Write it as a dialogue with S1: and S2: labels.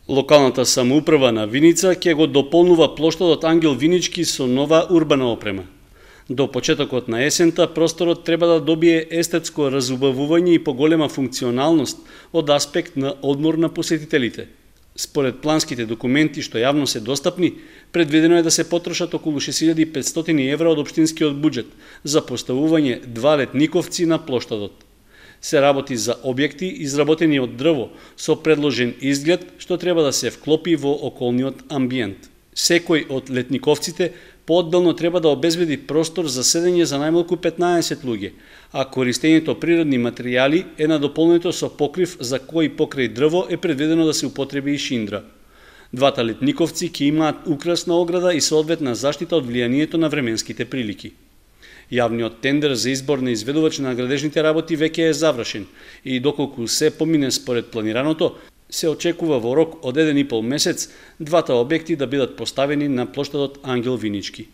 S1: Локалната самоуправа на Виница ќе го дополнува плоштадот Ангел Винички со нова урбана опрема. До почетокот на есента просторот треба да добие естетско разубавување и поголема функционалност од аспект на одмор на посетителите. Според планските документи што јавно се достапни, предвидено е да се потрошат околу 6500 евра од општинскиот буџет за поставување 2 летниковци на плоштадот. Се работи за објекти изработени од дрво со предложен изглед што треба да се вклопи во околниот амбиент. Секој од летниковците поодделно треба да обезбеди простор за седење за најмалку 15 луѓе, а користењето природни материјали е надополнето со покрив за кој покрај дрво е предвидено да се употреби и шиндра. Двата летниковци ќе имаат украсна ограда и соодветна заштита од влијанието на временските прилики. Јавниот тендер за избор на изведувач на градежните работи веќе е завршен и доколку се помине според планираното, се очекува во рок од 1,5 месец двата објекти да бидат поставени на плоштадот Ангел Винички.